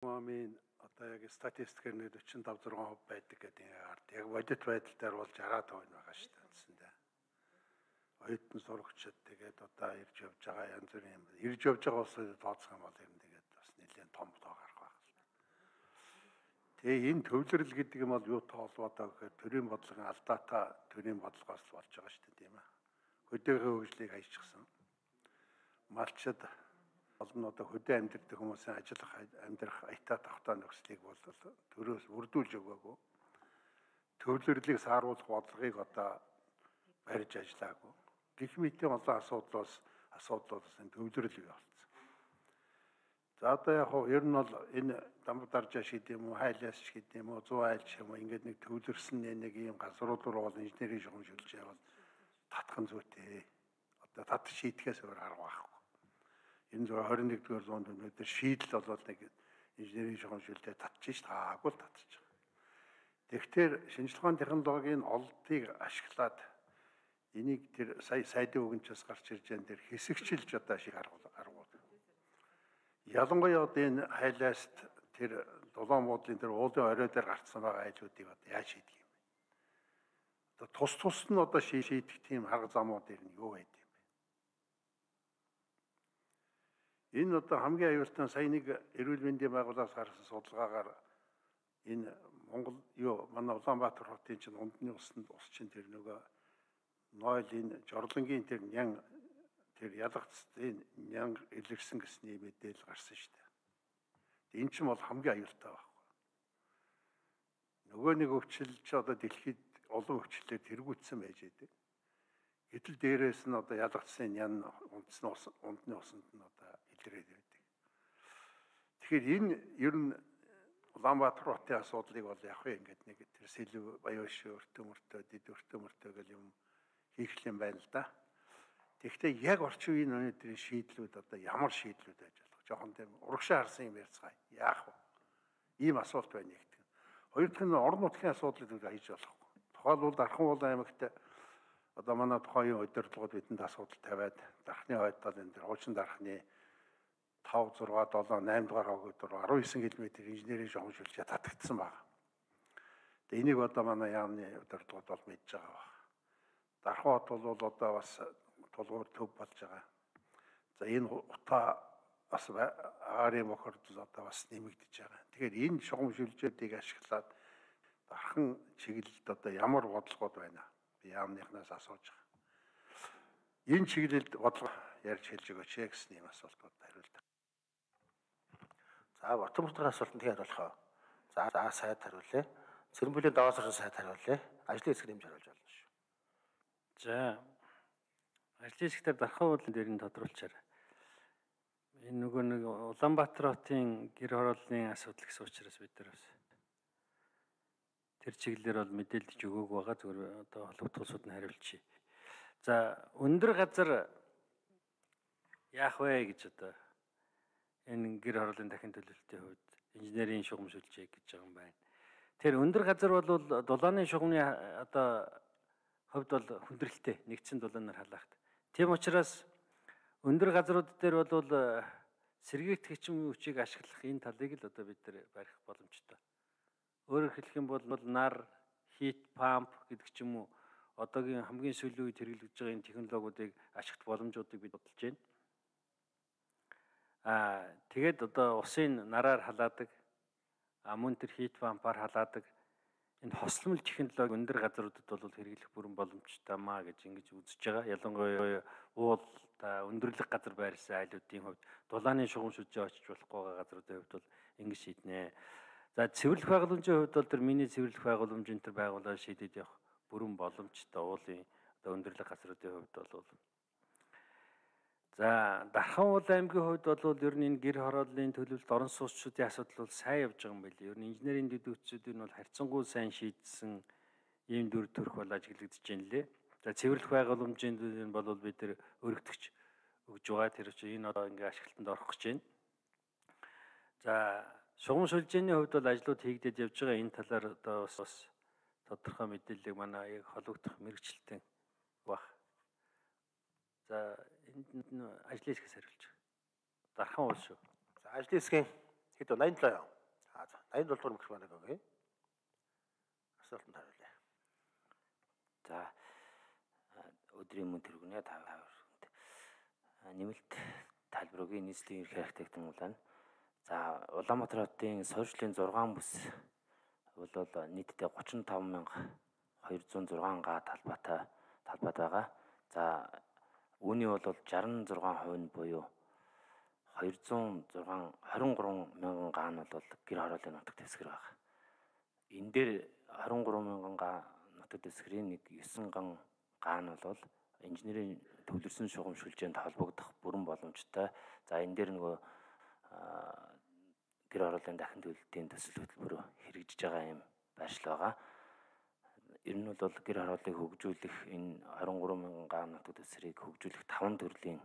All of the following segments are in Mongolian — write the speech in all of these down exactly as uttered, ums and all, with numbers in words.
Мамын одоо яг статистикээр нэг forty-five six хувь байдаг гэдэг нь ард. Яг бодит байдал дээр бол sixty хувь байгаа шүү дээ үндсэндээ. Оюутан сурагчид тэгээд одоо ирж явж байгаа янз бүрийн юм. Ирж явж байгаа улсууд тооцох юм бол ер нь тэгээд бас нэлээд том тоо гарах байх л та. Тэгээ энэ төвлөрөл гэдэг юм бол юутай холбоотой гэхээр төрийн бодлогын алдаатай төрийн бодлогоос болж байгаа шүү дээ тийм ээ. Хөдөөгийн хөгжлийг хайчихсан. Малчид олон одоо хөдөө амьдардаг хүмүүсийн ажиллах амьдрах аятаа тавтаа нөхцөлийг бол төрөөс үрдүүлж өгөөгүй. Төвлөрлийг сааруулах бодлогыг одоо барьж ажиллаагүй. Гэх мэтийн олон асуудлаас асуудлаас энэ төвлөрөл бий болсон. За одоо яг хоо ер нь бол энэ Дамбардаржаа шийд юм уу, Хайлаас шийд юм уу, Зүүн айлч юм уу ингээд нэг төвлөрсөн нэг ийм газрууд руу бол инженерийн шугамшилж явал татхан зүйтэй. Одоо тат шийдэхээс өөр арга байхгүй. Энэ twenty-one дугаар зуунд өнөөдөр шийдэл болоод нэг инженерийн шугамшилтад татчих таагүй л татчих. Тэгэхээр шинжилгээ ухааны технологийн олдыг ашиглаад энийг тэр сая сайдын үгнчээс гарч ирж байгаа тэр хэсэгчилж одоо шиг аргууд. Ялангуяа одоо энэ хайлааст тэр дулаан буудлын тэр уулын орой дээр гарцсан байгаа айлуудыг одоо яаж шийдэх юм бэ? Одоо тус тус нь одоо шийдэх тийм арга замууд ер нь юу байд юм бэ? Энэ одоо хамгийн аюултай сая нэг эрүүл мэндийн байгууллагаас гаргасан судалгаагаар энэ Монгол юу манай Улаанбаатар хотын чинь ундны усанд ус чинь тэр нөгөө нойл энэ жорлонгийн тэр нян тэр ялгцын нян илэрсэн гэсний мэдээлэл гарсан шүү дээ. Энэ чинь бол хамгийн аюултай байхгүй. Нөгөө нэг өвчлөлч одоо дэлхийд олон өвчлөлөөр тэргүүцсэн байж байдаг. Гэтэл дээрээс нь одоо ялгцын нян ундсны ус ундны усанд нь одоо илрээд байдаг. Тэгэхээр энэ ер нь Улаанбаатар хотын асуудлыг бол яг хөө ингээд нэг тэр сэлв баяш өртөө мөртөө дэд өртөө мөртөө гэл юм хийх юм байна л да. Тэгэхдээ яг орчин үеийн өнөөдрийн шийдлүүд одоо ямар шийдлүүд байж болох. Жохон тийм урагшаа харсан юм ярьцгаая. Яах вэ? Ийм асуулт байна нэгтгэн. Хоёр дахь нь орон нутгийн асуудлыг хийж болохгүй. Тухайлбал Дархан уулан аймагт одоо манай тухайн удирдлагууд бидэнд асуудал тавиад дархны хойдол энэ тэр хуучин дархны five six seven eight дугаар хогд руу nineteen км инженерийн шугамшилж татагдсан байна. Тэгээ энийг одоо манай яамны удирдлагууд бол мэдж байгаа байна. Дархан хот бол одоо бас тулгуур төв болж байгаа. За энэ утаа бас аарын бохирдол одоо бас нэмэгдэж байгаа. Тэгэхээр энэ шугамшилжүүдийг ашиглаад дархан чиглэлд одоо ямар бодлогод байна? Би яамныхнаас асууж байгаа. Энэ чиглэлд бодлого ярьж хэлж өгөөч гэсэн юм асуултууд хариулдаг. За Батбан мөрдгийн асуултанд хариулах. За за сайд хариулъя. Цэрэнбүлийн даваас орсон сайд хариулъя. Ажлын хэсэг нэмж хариулж болно шүү. За ажлын хэсгээр Дархан уулан дээр нь тодруулчаар. Энэ нөгөө нэг Улаанбаатар хотын гэр хорооллын асуудал гэсэн учраас бид нар бас тэр чиглэлээр бол мэдээлж өгөөг байгаа. Зүгээр одоо холбогдох улсууд нь хариулчих. За өндөр газар яах вэ гэж одоо энэ гэр хорооллын дахин төлөвлөлтийн хувьд инженерийн шугамшилжээ гэж байгаа юм байна. Тэр өндөр газар бол дулааны шугамны одоо хувьд бол хүндрэлтэй нэгдсэн дулаанаар халаахт. Тийм учраас өндөр газрууд дээр бол сэргийгдэх хүчин хүчийг ашиглах энэ талыг л одоо бид нар барих боломжтой. Өөрөөр хэлэх юм бол нар, хит памп гэдэг ч юм уу одоогийн хамгийн сүүлийн үед хэрэглэж байгаа энэ технологиудыг ашиглах боломжуудыг бид бодож байна. Аа тэгээд одоо усын нараар халаадаг, а мөн тэр хит пампаар халаадаг энэ хосломл технологи өндөр газруудад бол хэрэглэх бүрэн боломжтой маа гэж ингэж үзэж байгаа. Ялангуяа уул та өндөрлөг газар байрсан айлуудын хувьд дулааны шугамшилжээ очиж болохгүй байгаа газруудын хувьд бол ингэж шийднэ. За цэвэрлэх байгууламжийн хувьд бол тэр миний цэвэрлэх байгууламжийн тэр байгууллага шийдэж явах бүрэн боломжтой уулын одоо өндөрлөг газруудын хувьд бол. За Дархан уулан аймгийн хувьд бол ер нь энэ гэр хорооллын төлөвлөлт орон сууцчдын асуудал бол сайн явж байгаа юм байли. Ер нь инженерийн дэвтгчдүүд нь бол харьцангуй сайн шийдсэн ийм дүр төрх бол ажиглагдаж байна лээ. За цэвэрлэх байгууламжийн нь бол бид тэр өргөдөгч өгж байгаа. Тэр чинь энэ одоо ингээ ашиглалтанд орох гэж байна. За шугамшилжээний хувьд бол ажлууд хийгдэж явж байгаа. Энэ талаар одоо бас тодорхой мэдээллийг манай яг холбогдох мэрэгчлэлтэн баг. За энд нь ажлын хэсгээс хариулж. Дархан уул шүү. За ажлын хэсгийн Хэд вэ? восемь юу? Аа за восемь дугаар микрофоныг өгье. Асуултанд хариулъя. За өдрийн мөн тэргүүнээ та хоёрт нэмэлт тайлбар өгье. Нийслэлийн ерхий архитектор байна. За Улаанбаатар хотын суурьшлийн зургаан бүс бол нийтдээ тридцать и пять мянга двести и шесть га талбайтай талбайд байгаа. За үүний бол шестьдесят и шесть хувь нь буюу двести и шесть двадцать и три мянган га нь бол гэр хорооллын нутаг дэвсгэр байгаа. Энэ дээр двадцать и три мянган га нутаг дэвсгэрийн нэг девять ган га нь бол инженерийн төвлөрсөн шугам шүлжээнд холбогдох бүрэн боломжтой. За энэ дээр нөгөө гэр хорооллын дахин төлөлтийн төсөл хөтөлбөр хэрэгжиж байгаа юм байршил байгаа. Ер нь бол гэр хорооллыг хөгжүүлэх энэ двадцать и три мянган га нутаг дэвсгэрийг хөгжүүлэх таван төрлийн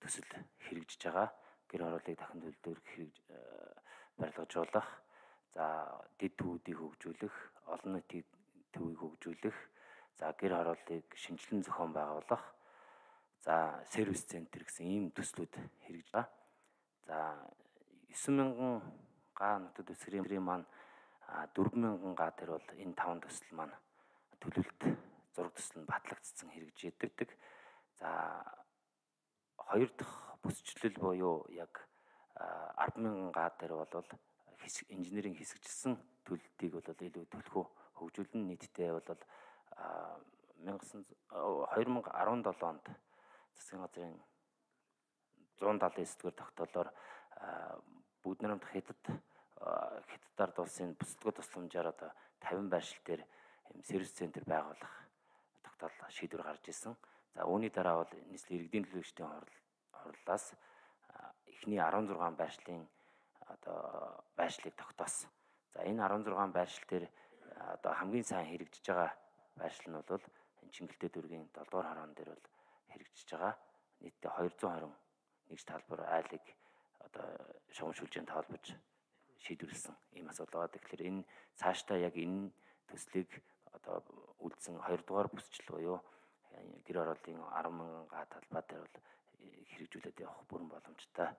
төсөл хэрэгжиж байгаа. Гэр хорооллыг дахин төлөвлөлт хэрэгж барилгажуулах, за дэд төвүүдийг хөгжүүлэх, олон нийтийн төвийг хөгжүүлэх, за гэр хорооллыг шинжилэн зохион байгуулах, за сервис центр гэсэн ийм төслүүд хэрэгжиж байгаа. За девять мянган га нутаг дэвсгэрийн маань дөрвөн мянган га дээр бол энэ таван төсөл маань төлөвлөлт зураг төсөл нь батлагдсан хэрэгжиж идэг. За хоёр дахь бүсчлэл буюу яг арван мянган га дээр бол инженерийн хэсэгчилсэн төлөлтийг бол илүү төлхөө хөгжүүлэн нийтдээ бол две тысячи десять онд засгийн газрын one seventy-nine дэх тогтоолоор бүгд намт хятад хятадаар дуусын бүсдгөө тусламжаар одоо пятьдесят байршил дээр сервис центр байгуулах тогтоол шийдвэр гарч ирсэн. За үүний дараа бол нийслэлийн иргэдийн төлөөлөгчдийн хурлаас эхний16 байршлын одоо байршлыг тогтоосон. За энэ16 байршил дээр одоо хамгийн сайн хэрэгжиж байгаа байршил нь бол энэ Чингэлтэй дүүргийн seven дугаар хороон дээр бол хэрэгжиж байгаа. Нийтдээ two hundred twenty нэгж талбар айлыг одоо шугам шүлжээнд холбож шийдвэрлсэн ийм асуудал байгаа. Тэгэхээр энэ цаашдаа яг энэ төслийг одоо үлдсэн two дугаар бүсчил буюу гэр хорооллын ten мянган га талбай дээр бол хэрэгжүүлээд явах бүрэн боломжтой.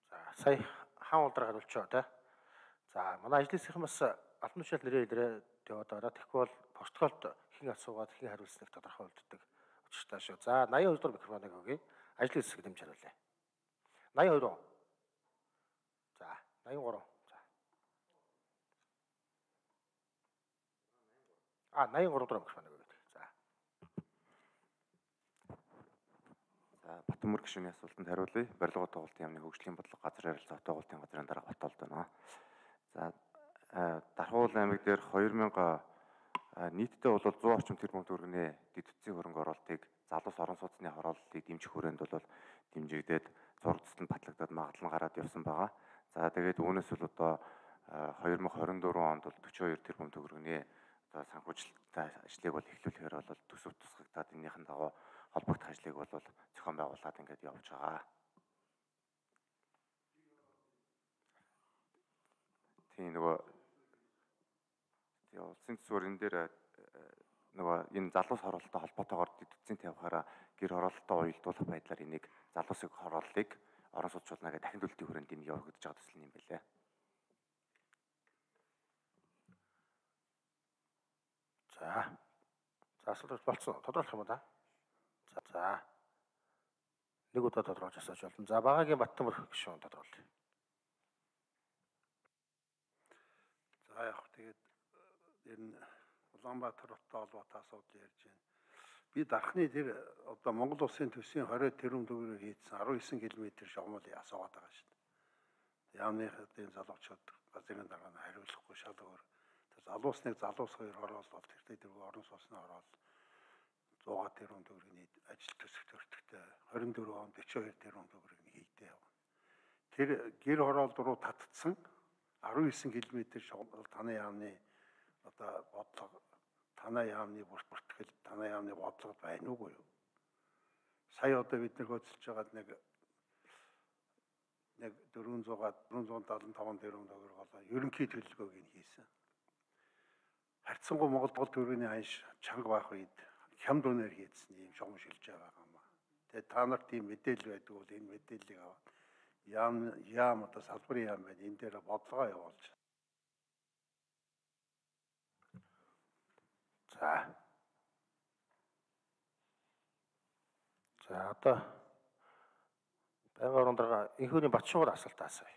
За сая хаан улдраа хариулчихоо тий. За манай ажлынхын бас албан тушаал нэрээ илрээ яваад байгаа. Тэгэхгүй бол протоколд хэн асуугаад хэн хариулсныг тодорхой болддог учиртай шүү. За eighty-two дугаар микрофоныг өгье. Ажлын хэсэг дэмж хариулъя. eighty-two. За eighty-three. За. А eighty-three дугаар микрофоныг өгье. За. За Батмөр гишүүний асуултанд хариулъя. Барилга тоглолтын яамны хөгжлийн бодлого газар харилцаа тоглолтын газрын дараа хотолд байна. За Дархуул аймаг дээр two thousand нийтдээ бол one hundred орчим тэрбум төгрөгийн дэд утсын хөрөнгө оруулалтыг залуус орон сууцны хорооллыг дэмжих хүрээнд бол дэмжигдээд зураг төсөлд батлагдаад магадлан гараад явсан байгаа. За тэгээд үүнээс бол одоо twenty twenty-four онд бол forty-two тэрбум төгрөгийн одоо санхүүжилттэй ажлыг бол эхлүүлэхээр бол төсөв тусгагдаад энэхийн дагуу холбогдох ажлыг бол зохион байгуулад ингээд явж байгаа. Тийм нөгөө тийм улсын төсвөр энэ дээр нөгөө энэ залуус хороололтой холбоотойгоор дэд утсын тавихаараа гэр хороололтой уялдуулах байдлаар энийг залуусыг хорооллыг орон сууцчулнаа гэдэг дахин төлөлтийн хүрээнд энийг явагдаж байгаа төсөл юм байлээ. За. За асуулт болцсон. Тодорхойлох юм да. За за. Нэг удаа тодорхойлж асууж болно. За багагийн Баттамөр гишүүн тодорхойлъё. За яг тэгээд энэ Улаанбаатар хоттой холбоотой асуудал ярьж байна. Би дархны тэр одоо Монгол улсын төсвийн twenty тэрбум төгрөгийг хийдсэн nineteen км шугамыг асуугаад байгаа шүү дээ. Яамны хэдийн залуучууд газрын дараа нь хариулахгүй шал өөр. Тэр залуусныг залуус хоёр хороолол тэртээ тэр орон сууцны хороол one hundred тэрбум төгрөгийн ажил төсөх төртөгтэй twenty-four онд forty-two тэрбум төгрөгийг хийдээ явна. Тэр гэр хороол руу татцсан nineteen км шугам танай яамны одоо бодлого танай яамны бүртгэл танай яамны бодлого байна уугүй юу? Сая одоо бид нэр хөдөлж байгаа нэг нэг four hundred four seventy-five тэрбум төгрөг болоо ерөнхий төлөлгөөг нь хийсэн. Харьцангуй Монгол төгрөгийн ханш чанга байх үед хямд үнээр хийдсэн юм шугам шилж байгаа юм аа. Тэгээ та нарт тийм мэдээлэл байдаг бол энэ мэдээллийг аваад яам яам одоо салбарын яам байна. Энэ дээр бодлогоо явуулж. За. За одоо байнгын орон дарга энхүүний Батшуур асуулт асууя.